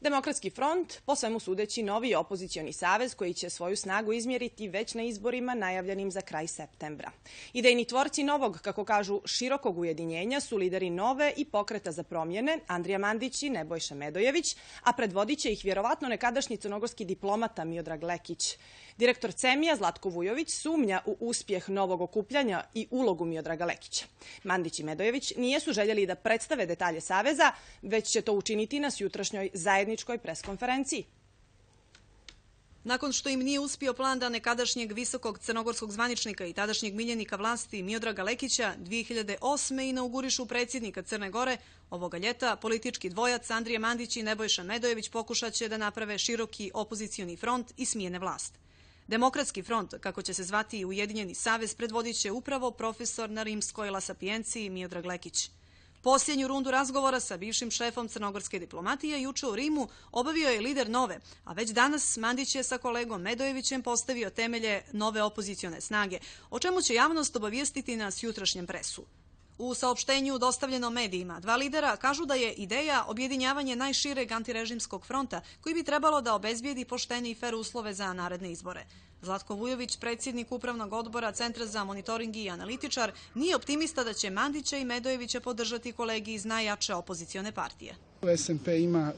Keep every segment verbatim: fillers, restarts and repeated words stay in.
Demokratski front, po svemu sudeći, novi opozicioni savez koji će svoju snagu izmjeriti već na izborima najavljenim za kraj septembra. Idejni tvorci novog, kako kažu, širokog ujedinjenja su lideri Nove i Pokreta za promjene, Andrija Mandić i Nebojša Medojević, a predvodit će ih vjerovatno nekadašnji crnogorski diplomata Miodrag Lekić. Direktor Cemija Zlatko Vujović sumnja u uspjeh novog okupljanja i ulogu Miodraga Lekića. Mandić i Medojević nijesu željeli da predstave detalje saveza, već će to učiniti na jutrašnjoj zajedničkoj preskonferenciji. Nakon što im nije uspio plan da nekadašnjeg visokog crnogorskog zvaničnika i tadašnjeg miljenika vlasti Miodraga Lekića dvije hiljade osme inaugurišu predsjednika Crne Gore, ovoga ljeta politički dvojac Andrija Mandić i Nebojša Medojević pokušat će da naprave široki opozicioni front i smijene vlast. Demokratski front, kako će se zvati i Ujedinjeni savez, predvodit će upravo profesor na rimskoj La Sapienciji Miodrag Lekić. Posljednju rundu razgovora sa bivšim šefom crnogorske diplomatije juče u Rimu obavio je lider Nove, a već danas Mandić je sa kolegom Medojevićem postavio temelje nove opozicione snage, o čemu će javnost obavijestiti na jutrašnjem presu. U saopštenju dostavljenom medijima, dva lidera kažu da je ideja objedinjavanje najšireg antirežimskog fronta koji bi trebalo da obezbijedi poštene i fer uslove za naredne izbore. Zlatko Vujović, predsjednik Upravnog odbora Centra za monitoring i analitičar, nije optimista da će Mandića i Medojevića podržati kolegi iz najjače opozicione partije. S N P ima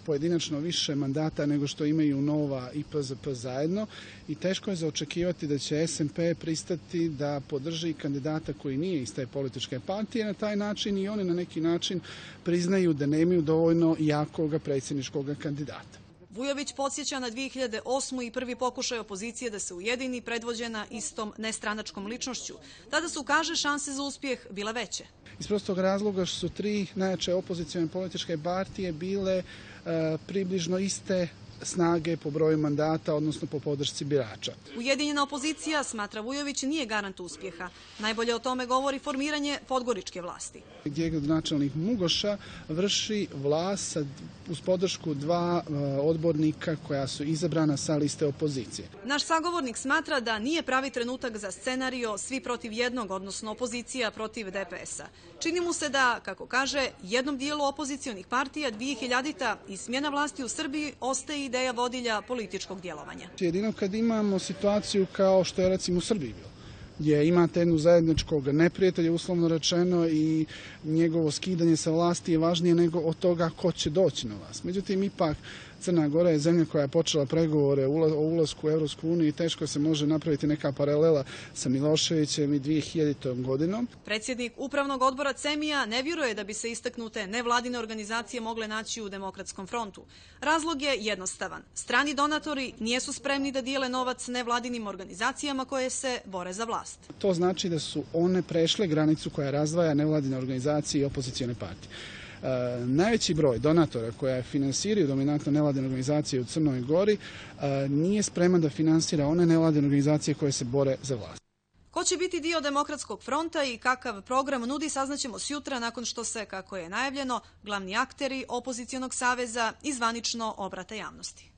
pojedinačno više mandata nego što imaju Nova i P Z P zajedno i teško je za očekivati da će S N P pristati da podrži kandidata koji nije iz te političke partije. Na taj način i oni na neki način priznaju da nemaju dovoljno jakog predsjedničkog kandidata. Vujović podsjeća na dvije hiljade osmu i prvi pokušaj opozicije da se ujedini predvođena istom nestranačkom ličnošću. Tada su, kaže, šanse za uspjeh bile veće. Iz prostog razloga što su tri najjače opozicione političke partije bile e, približno iste snage po broju mandata, odnosno po podršci birača. Ujedinjena opozicija, smatra Vujović, nije garant uspjeha. Najbolje o tome govori formiranje podgoričke vlasti. Gdje gradonačelnik Mugoša vrši vlast uz podršku dva odbornika koja su izabrana sa liste opozicije. Naš sagovornik smatra da nije pravi trenutak za scenario svi protiv jednog, odnosno opozicija protiv D P S-a. Čini mu se da, kako kaže, jednom dijelu opozicionih partija dvije hiljadita i smjena vlasti u Srbiji ostaje ideja vodilja političkog djelovanja. Jedino kad imamo situaciju kao što je recimo u Srbiji bilo, gdje imate jednu zajedničkog neprijatelja, uslovno rečeno, i njegovo skidanje sa vlasti je važnije nego od toga ko će doći na vlast. Međutim, ipak Crna Gora je zemlja koja je počela pregovore o ulasku u Evropsku uniju i teško se može napraviti neka paralela sa Miloševićem i dvije hiljaditom godinom. Predsjednik Upravnog odbora Cemija ne vjeruje da bi se istaknute nevladine organizacije mogle naći u Demokratskom frontu. Razlog je jednostavan. Strani donatori nijesu spremni da dijele novac nevladinim organizacijama koje se bore za vlast. To znači da su one prešle granicu koja razdvaja nevladine organizacije i opozicione partije. Uh, najveći broj donatora koja finansiraju dominantno nevladine organizacije u Crnoj Gori uh, nije spreman da finansira one nevladine organizacije koje se bore za vlast. Ko će biti dio Demokratskog fronta i kakav program nudi saznaćemo sjutra nakon što se, kako je najavljeno, glavni akteri opozicionog saveza i zvanično obrate javnosti.